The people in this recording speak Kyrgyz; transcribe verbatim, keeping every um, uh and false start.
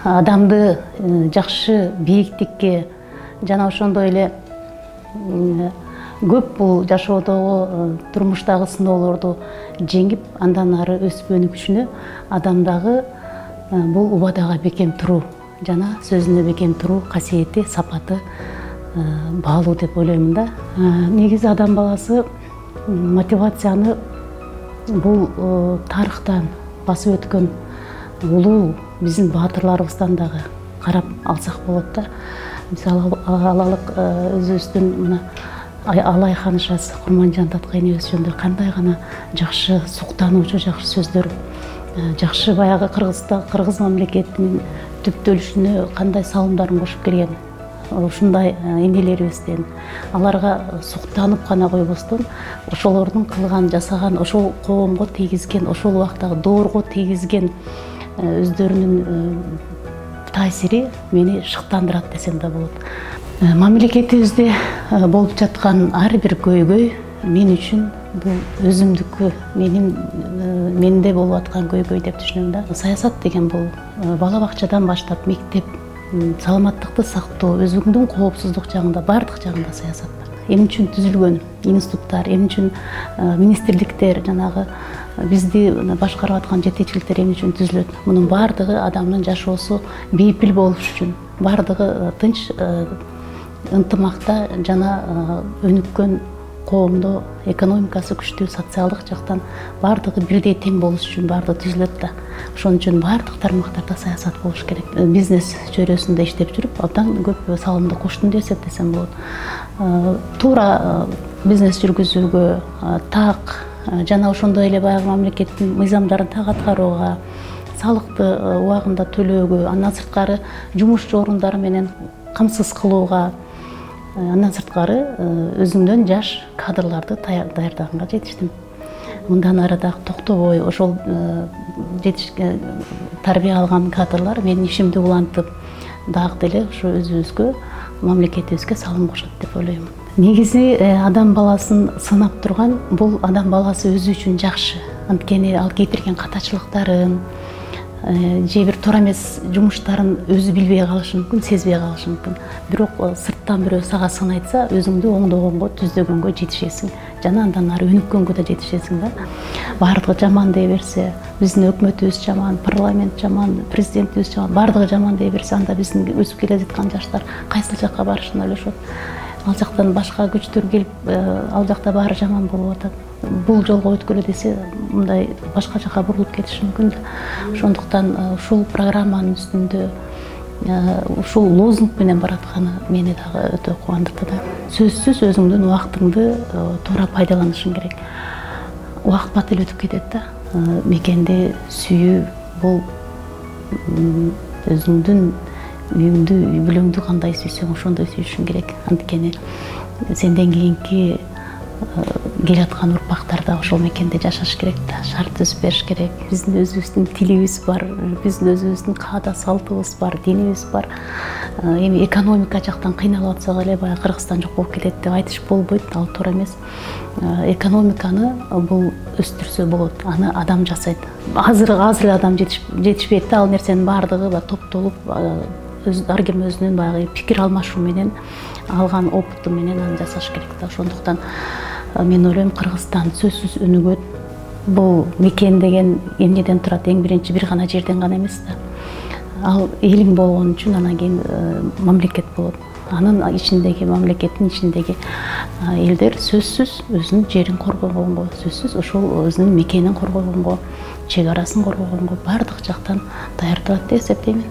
адамды жакшы бийиктикке жана ошондой эле көп бул жашоодогу турмуштагы сыноолорду жеңип андан ары өсүп өнүгүшүнө адамдагы бул убадага бекем туруу жана сөзүнө бекем туруу касиети, сапаты баалуу деп ойлоймун да. Негизи адам баласы мотивацияны бул тарыхтан басып өткөн улуу биздин баатырларыбыздан дагы карап алсак болот да. Мисалы алалык өзүбүздүн мына Алай ханышасы Курманжан Таткай энебиз жөнүндө кандай гана жакшы суктануучу жакшы сөздөр, жакшы баягы Кыргызда кыргыз мамлекетинин түптөлүшүнө кандай салымдарын кошуп келген. Ушундай энелерибизден аларга суктанып гана койбостон, ошолордун кылган, жасаган, ошол коомго тийгизген, ошол убактагы доорго тийгизген өздөрүнүн таасири мени шыктандырат десем да болот. Мамлекетибизде болуп жаткан ар бир көйгөй мен үчүн бул өзүмдүккө, менин менде болуп аткан көйгөй деп түшүнөм да. Саясат деген бул бала бакчадан баштап мектеп, саламаттыкты сактоо, өзүңдүн коопсуздук жагында, баардык жагында саясат бар. Эмне үчүн түзүлгөн институттар, эмне үчүн министрликтер, жанагы бизди башкарып аткан жетекчиликтер эмне үчүн түзүлөт? Мунун баардыгы адамдын жашоосу бейпил болуш үчүн, баардыгы тынч ынтымакта жана өнүккөн коомдо экономикасы күчтүү, социалдык жактан баардыгы бирдей тең болуш үчүн баардыгы түзүлөт да. Ошон үчүн баардык тармактарда саясат болуш керек. Бизнес чөйрөсүндө иштеп жүрүп, абдан көп салымды коштум деп эсептесем болот. Туура бизнес жүргүзүүгө, так жана ошондой эле баягы мамлекеттин мыйзамдарын так аткарууга, салыкты убагында төлөөгө, андан сырткары жумуш орундары менен камсыз кылууга, андан сырткары өзүмдөн жаш кадрларды даярдаганга жетиштим. Мындан ары дагы токтобой ошол тарбия алган кадрлар менин ишимди улантып, дагы деле ошо өзүбүзгө, мамлекетибизге салым кошот деп ойлойм. Негизи адам баласын сынап турган бул адам баласы өзү үчүн жакшы. Анткени ал кетирген катачылыктарын, же бир туура эмес жумуштарын өзү билбей калышы мүмкүн, сезбей калышы мүмкүн. Бирок сырттан бирөө сага сын айтса, өзүңдү оңдогонго, түздөгөнгө жетишесиң. Жана андан ары өнүккөнгө да жетишесиң да. Баардыгы жаман дей берсе, биздин өкмөтүбүз жаман, парламент жаман, президентибиз жаман, баардыгы жаман дей берсе, анда биздин өсүп келе жаткан жаштар кайсыл жакка барышын ойлошот. Ал жактан башка күчтөр келип, ал жакта баары жаман болуп атат. Бул жолго өткөлө десе, мындай башка жакка бурулуп кетиши мүмкүн. Ошондуктан ушул программанын үстүндө ушул лозунг менен баратканы мени дагы өтө кубандырды да. Сөзсүз өзүңдүн убактыңды туура пайдаланышың керек. Убакыт бат эле өтүп кетет да. Мекенди сүйүү бул өзүңдүн үйүңдү, үй бүлөңдү кандай сүйсөң, ошондой сүйүшүң керек. Анткени сенден кийинки келе аткан урпактар да ошол мекенде жашаш керек да, шарт түзүп бериш керек. Биздин өзүбүздүн тилибиз бар, биздин өзүбүздүн каада салтыбыз бар, динибиз бар. Эми экономика жактан кыйналып атсак эле баягы Кыргызстан жок болуп кетет деп айтыш болбойт, ал туура эмес. Экономиканы бул өстүрсө болот, аны адам жасайт. Азыр азыр адам жетишпейт да, ал нерсенин баардыгы топтолуп, ар ким өзүнүн баягы пикир алмашуу менен, алган опыту менен аны жасаш керек да. Ошондуктан мен ойлойм, Кыргызстан сөзсүз өнүгөт. Бул мекен деген эмнеден турат? Эң биринчи бир гана жерден гана эмес да. Ал элиң болгон үчүн анан кийин мамлекет болот. Анын ичиндеги, мамлекеттин ичиндеги элдер сөзсүз өзүнүн жерин коргогонго, сөзсүз ошол өзүнүн мекенин коргогонго, чек арасын коргогонго баардык жактан даярдалат деп эсептейм.